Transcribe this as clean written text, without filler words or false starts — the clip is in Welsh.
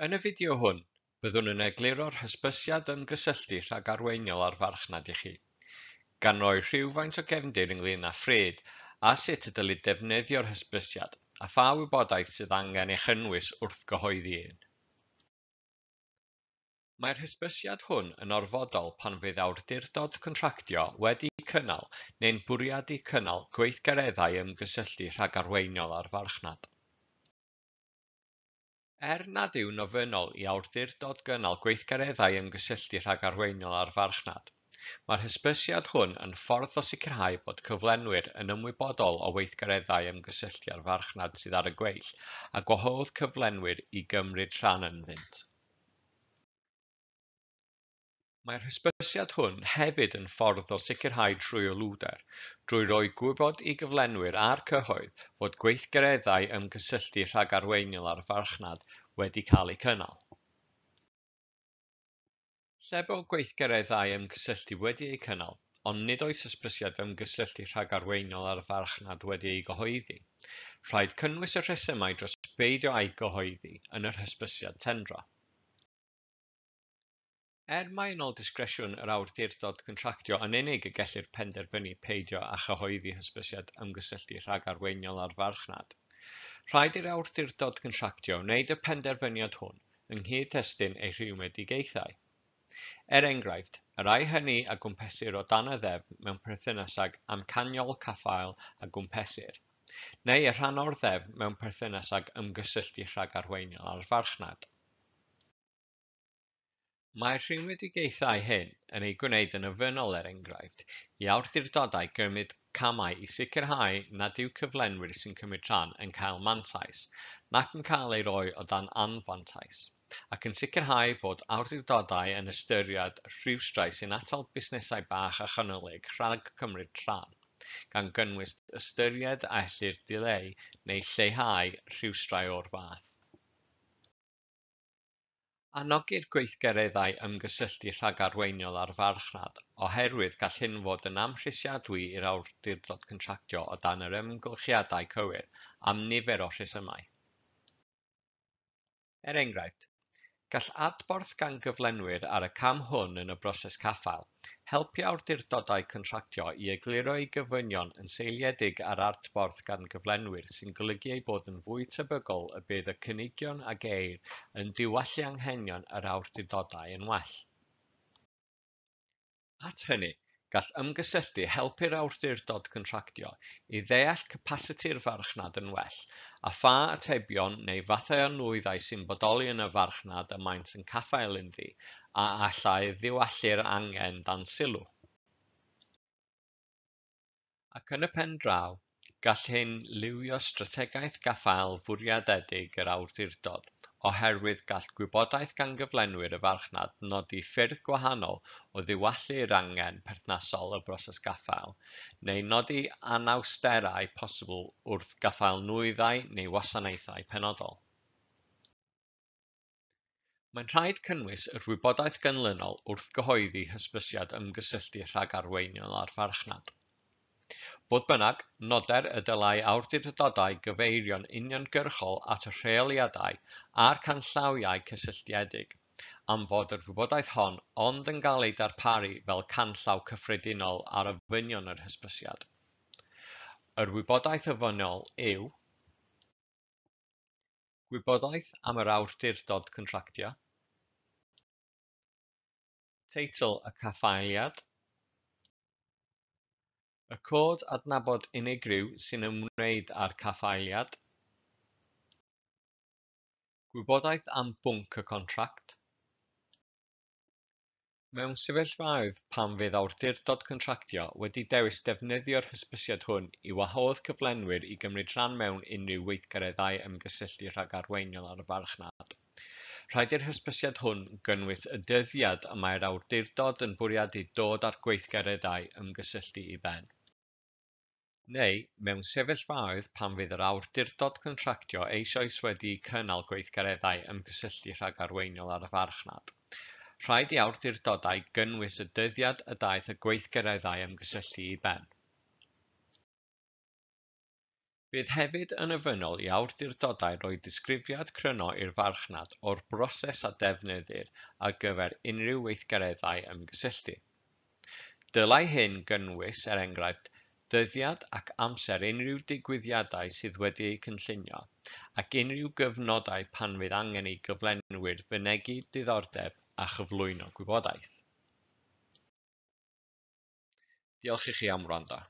Yn y fideo hwn, byddwn yn egluro'r hysbysiad ymgysylltu rhagarweiniol â'r farchnad i chi, gan roi rhywfaint o gefndir ynglŷn â phryd a sut y dylid defnyddio'r hysbysiad a pha wybodaeth sydd angen ei chynnwys wrth gyhoeddi un. Mae'r hysbysiad hwn yn orfodol pan fydd awdurdod contractio wedi cynnal neu'n bwriadu cynnal gweithgareddau ymgysylltu rhagarweiniol â'r farchnad. Er nad yw'n ofynnol i awdurdod gynnal gweithgareddau ymgysylltu rhagarweiniol â'r farchnad, mae'r hysbysiad hwn yn ffordd o sicrhau bod cyflenwyr yn ymwybodol o weithgareddau ymgysylltu â'r farchnad sydd ar y gweill a gwahodd cyflenwyr i gymryd rhan ynddynt. Mae'r hysbysiad hwn hefyd yn ffordd o sicrhau tryloywder drwy roi gwybod i gyflenwyr a'r cyhoedd fod gweithgareddau ymgysylltu rhagarweiniol â'r farchnad wedi cael eu cynnal. Lle bo gweithgareddau ymgysylltu wedi eu cynnal, ond nid oes hysbysiad ymgysylltu rhagarweiniol â'r farchnad wedi ei gyhoeddi, rhaid cynnwys y rhesymau dros beidio â'i gyhoeddi yn yr hysbysiad tendro. Er mai yn ôl disgresiwn yr awdurdod contractio yn unig y gellir penderfynu peidio â chyhoeddi hysbysiad ymgysylltu rhagarweiniol â'r farchnad, rhaid i'r awdurdod contractio wneud y penderfyniad hwn yng nghyd-destun ei rhwymedigaethau. Er enghraifft, y rhai hynny a gwmpesir o dan y ddeddf mewn perthynas ag amcanion caffael a gwmpesir, neu y rhan o'r ddeddf mewn perthynas ag ymgysylltu rhagarweiniol â'r farchnad. Mae'r rhwymedigaethau hyn yn ei gwneud yn ofynnol, er enghraifft, i awdurdodau gymryd camau i sicrhau nad yw cyflenwyr sy'n cymryd rhan yn cael mantais, nac yn cael eu rhoi o dan anfantais, ac yn sicrhau bod awdurdodau yn ystyried rhwystrau sy'n atal busnesau bach a chanolig rhag cymryd rhan, gan gynnwys ystyried a ellir dileu neu lleihau rhwystrau o'r fath. Anogir gweithgareddau ymgysylltu rhagarweiniol â'r farchnad oherwydd gall hyn fod yn amhrisiadwy i'r awdurdod contractio o dan yr amgylchiadau cywir am nifer o rhesymau. Er enghraifft, gall adborth gan gyflenwyr ar y cam hwn yn y broses caffael helpu awdurdodau contractio i egluro eu gofynion yn seiliedig ar adborth gan gyflenwyr sy'n golygu ei bod yn fwy tebygol y bydd y cynigion a geir yn diwallu anghenion yr awdurdodau yn well. At hynny, gall ymgysylltu helpu'r awdurdod contractio i ddeall capasiti'r farchnad yn well a pha atebion neu fathau o nwyddau sy'n bodoli yn y farchnad y maent yn caffael ynddi a allai ddiwallu'r angen dan sylw. Ac yn y pen draw, gall hyn lywio strategaeth gaffael fwriadedig yr awdurdod, oherwydd gall gwybodaeth gan gyflenwyr y farchnad nodi ffyrdd gwahanol o ddiwallu'r angen perthnasol y broses gaffael, neu nodi anawsterau posibl wrth gaffael nwyddau neu wasanaethau penodol. Mae'n rhaid cynnwys yr wybodaeth ganlynol wrth gyhoeddi hysbysiad ymgysylltu rhagarweiniol â'r farchnad. Fodd bynnag, noder y dylai awdurdodau gyfeirio'n uniongyrchol at y rheoliadau a'r canllawiau cysylltiedig, am fod yr wybodaeth hon ond yn cael ei darparu fel canllaw cyffredinol ar ofynion yr hysbysiad. Yr wybodaeth ofynnol yw: Gwybodaeth am yr awdurdod contractio, teitl y caffaeliad, y cod adnabod unigryw sy'n ymwneud â'r caffaeliad, gwybodaeth am bwnc y contract. Mewn sefyllfaoedd pan fydd awdurdod contractio wedi dewis defnyddio'r hysbysiad hwn i wahodd cyflenwyr i gymryd rhan mewn unrhyw weithgareddau ymgysylltu rhagarweiniol ar y farchnad, rhaid i'r hysbysiad hwn gynnwys y dyddiad y mae'r awdurdod yn bwriadu dod â'r gweithgareddau ymgysylltu i ben. Neu, mewn sefyllfaoedd pan fydd yr awdurdod contractio eisoes wedi cynnal gweithgareddau ymgysylltu rhagarweiniol ar y farchnad, rhaid i awdurdodau gynnwys y dyddiad y daeth y gweithgareddau ymgysylltu i ben. Bydd hefyd yn ofynnol i awdurdodau roi disgrifiad cryno i'r farchnad o'r broses a defnyddir ar gyfer unrhyw weithgareddau ymgysylltu. Dylai hyn gynnwys, er enghraifft, dyddiad ac amser unrhyw digwyddiadau sydd wedi'u cynllunio, ac unrhyw gyfnodau pan fydd angen i gyflenwyr fynegi diddordeb a chyflwyno gwybodaeth. Diolch i chi am wrando.